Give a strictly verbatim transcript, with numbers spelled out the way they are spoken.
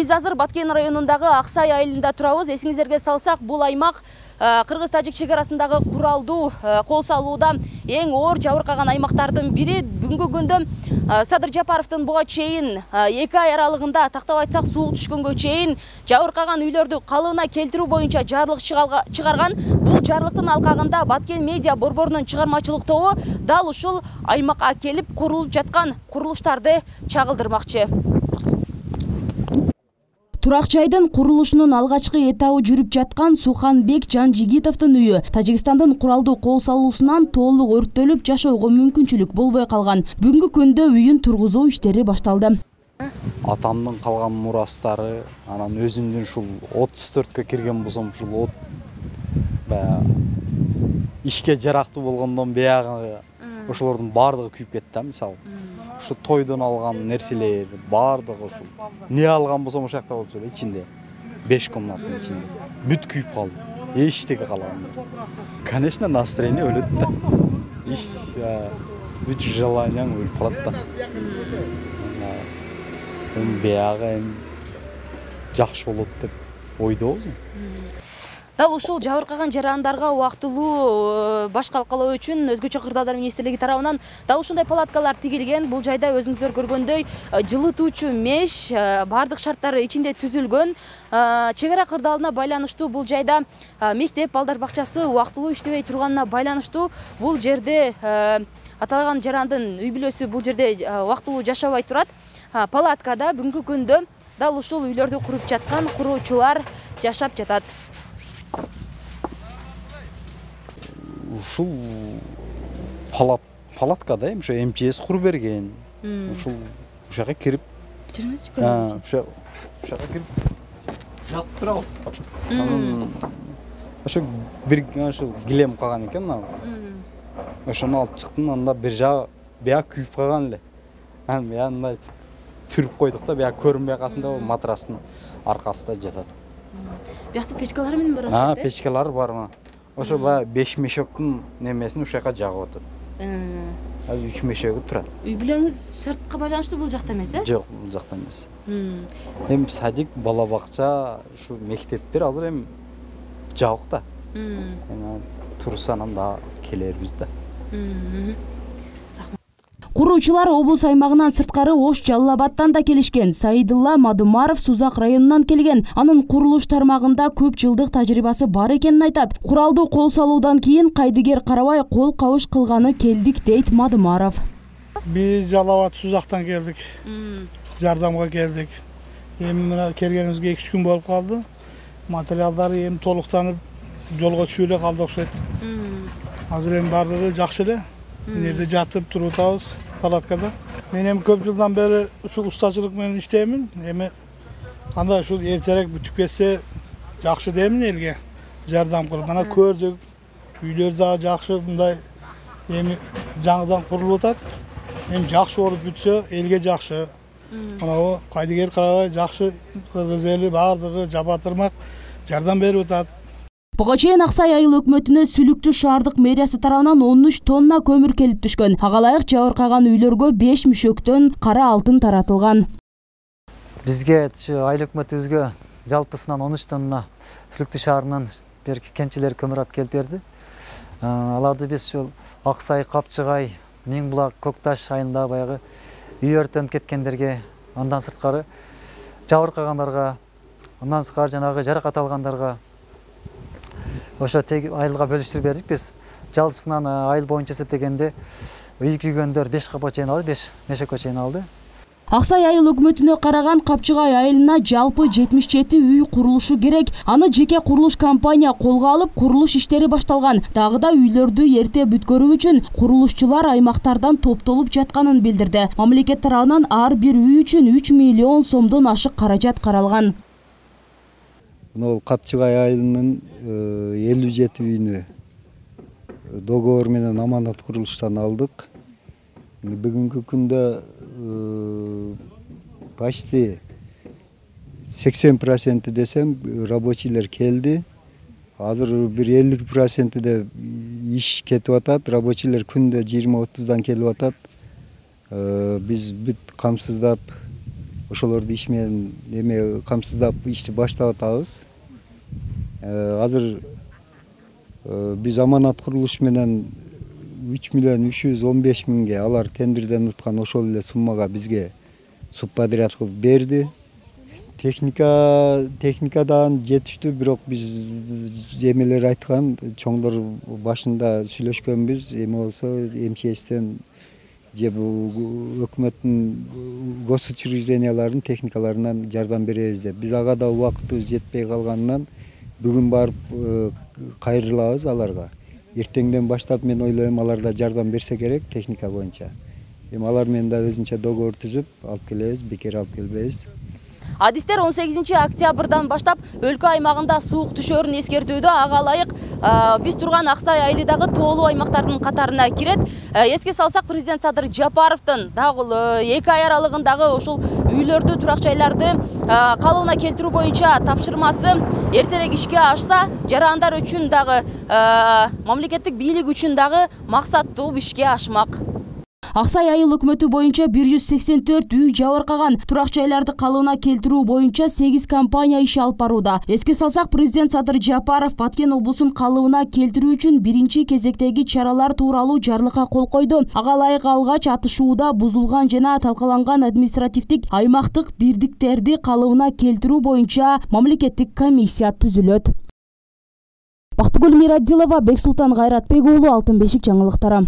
Биз азыр Баткен районундагы Аксай айылында турабыз. Эсиңиздерге салсак, бул аймак Кыргыз-Тажик чегарасындагы куралдуу кол салууда эң оор жабыркаган аймактардын бири. Бүгүнкү күндө Садыр Жапаровдун буга чейин эки ай аралыгында, тактап айтсак, суук түшкөнгө чейин жабыркаган үйлөрдү калыбына келтирүү боюнча жарлык чыгарган. Бул жарлыктын алкагында Баткен медиа борборунун чыгармачылык тобу дал ушул аймакка келип курулуп жаткан курулуштарды чагылдырмакчы. Турак жайдын курулушунун алгачкы этабы жүрүп жаткан Суханбек Жанжигитовдун үйү Тажикстандын куралдуу кол салуусунан толук өрттөлүп жашоого мүмкүнчүлүк болбой калган. Бүгүнкү күндө үйүн тургузуу иштери башталды. Атамдын калган мурастары, анан өзүмдүн ушул отуз төрткө кирген болсом, ушул от баягы ишке жарактуу болгондон баягы ошолордун баардыгы күйүп кетти, мисалы. Ушу тойдон алган нерселер баардыгы ушул. Не алган болсом ошол жакта болчу, ичинде. беш комнаттын ичинде. Бүт күйүп калды. Эчтеке калган. Конечно, настроение өлөт да. Иш, бүт желанияң өлүп калат да. Эми баягы эми жакшы болот деп ойдобуз. Дал ушул жабыркаган жарандарга убактылуу баш калкалоо үчүн Өзгөчө кырдаалдар министрлиги тарабынан дал ушундай палаткалар тигилген. Бул жайда өзүңүздөр көргөндөй жылытуучу меш, бардык шарттары ичинде түзүлгөн. Чегара кырдаалына байланыштуу бул жайда мектеп, балдар бакчасы убактылуу иштебей турганына байланыштуу бул жерде аталган жарандын үй бүлөсү бул жерде убактылуу жашабай турат. Палаткада бүгүнкү күндө дал ушул үйлөрдү куруп жаткан куруучулар жашап жатат. Ушул палаткада эми ошо эм че эс куруп берген. Ушул ушага кирип жүрүңүзчү көрүңүзчү. Ошо ушага кирип жатып турабыз. Анан ошо бир ошо килем калган экен мына. Ошону алып чыктым, анда бир жагы бияк күйүп калган эле. Анан мындай түрүп койдук да, бияк көрүнбөй калсын деп матрастын аркасында жатат. Биякта печкалар менен бар. А, печкалар бар мына. Ошо баягы беш мешоктун немесин ушул жака жагып атат. Азыр үч мешеги турат. Үй бүлөңүз шартка байланыштуу бул жакта эмес, э? Жок, бул жакта эмес. Эми садик, бала бакча, ушу мектептер азыр эми жабык да. Эми турса анан да келербиз да. Куруучулар облус аймагынан сырткары Ош Жалал Абадтан да келишкен. Саидулла Мадумаров Сузак районунан келген. Анын курулуш тармагында көп жылдык тажрыйбасы бар экенин айтат. Куралдуу кол салуудан кийин кайдыгер карабай кол кабыш кылганы келдик, дейт Мадумаров. Биз Жалал Абад Сузактан келдик. Жардамга келдик. Эми мына келгенибизге эки үч күн болуп калды. Материалдары эми толуктанып жолго түшүп эле калды окшойт. Азыр эми бардыгы жакшы эле. Жерде жатып туруп атабыз палаткада. Мен эми көп жылдан бери ушул устачылык менен иштеймин. Эми кандай ушул эртерээк бүтүп кетсе жакшы деймин элге. Жардам кылып. Мана көрдүк. Үйлөр да жакшы, мындай эми жаңыдан курулуп атат. Эми жакшы болуп бүтсө элге жакшы. Мына кайдыгер карабай жакшы кыргыз эли бардыгы жабатырмак жардам берип атат. Буга чейин Аксай айыл өкмөтүнө Сүлүктүү шаардык мэриясы тарабынан он үч тонна көмүр келип түшкөн. Ага ылайык жабыркаган үйлөргө беш мüşөктөн кара алтын таратылган. Бизге айыл өкмөтүбүзгө жалпысынан он үч тонна Сүлүктүү шаарынан кенчилер көмүр алып келип берди. Аларды биз ушул Аксай, Капчыгай, Миң булак, Көкташ айылында баягы үй өртөнүп кеткендерге, андан сырткары жабыркагандарга, андан сырткары жанагы жаракат алгандарга ошо айылга бөлүштүрүп бердик биз. Жалпысынан айыл боюнча эсептегенде үй күйгөндөр беш капка чейин алды, беш мешекке чейин алды. Аксай айыл өкмөтүнө караган Капчыгай айылына жалпы жетимиш жети үй курулушу керек. Аны жеке курулуш компания колго алып, курулуш иштери башталган. Дагы да үйлөрдү эрте бүткөрүү үчүн курулушчулар аймактардан топтолуп жатканын билдирди. Мамлекет тарабынан ар бир үй үчүн үч миллион сомдон ашык каражат каралган. Мына Капчыгай айылынын элүү жети үйүнө договор менен аманат курулуштан алдык. Бүгүнкү күндө почти сексен проценти десем рабочийлер келди. Азыр бир элүү процентиде иш кетип атат. Рабочийлер күндө жыйырма отуздан келип атат. Биз бүт камсыздап ошолорду иш менен эме камсыздап ишти баштап атабыз. Азыр биз аманат курулуш менен үч миллион үч жүз он беш миңге алар тендерден уткан ошол эле суммага бизге субподряд кылып берди. Техника техника дагы жетиштүү, бирок биз эмелер айткан, чоңдор башында сүйлөшкөнбүз, эме болсо МЧСтен же өкмөттүн госучрежденияларынын техникаларынан жардам беребиз деп. Биз ага да убактыбыз жетпей калганынан бүгүн барып кайрылабыз аларга. Эртеңден баштап мен ойлойм алар да жардам берсе керек техника боюнча. Эми алар менен да өзүнчө договор түзүп алып келебиз, бекер алып келбейбиз. Адистер он сегизинчи октябрдан баштап өлкө аймагында суук түшөрүн эскертүүдө. Ага ылайык биз турган Аксай айылдагы тоолуу аймактардын катарына кирет. Эске салсак, президент Садыр Жапаровдун дагы эки ай аралыгындагы ушул үйлөрдү, турак жайларды калыбына келтирүү боюнча тапшырмасы эртерээк ишке ашса, жарандар үчүн дагы, мамлекеттик бийлик үчүн дагы максаттуу ишке ашмак. Аксай айыл өкмөтү боюнча бир жүз сексен төрт үй жабыркаган, турак жайларды калыбына келтирүү боюнча сегиз компания иш алып барууда. Эске салсак, президент Садыр Жапаров Баткен облусун калыбына келтирүү үчүн биринчи кезектеги чаралар тууралуу жарлыкка кол койду. Ага ылайык алгач атышууда бузулган жана талкаланган административдик аймактык бирдиктерди калыбына келтирүү боюнча мамлекеттик комиссия түзүлөт. Бактыгүл Мирадилова, Бексултан Кайратбек уулу, Алтын бешик жаңылыктары.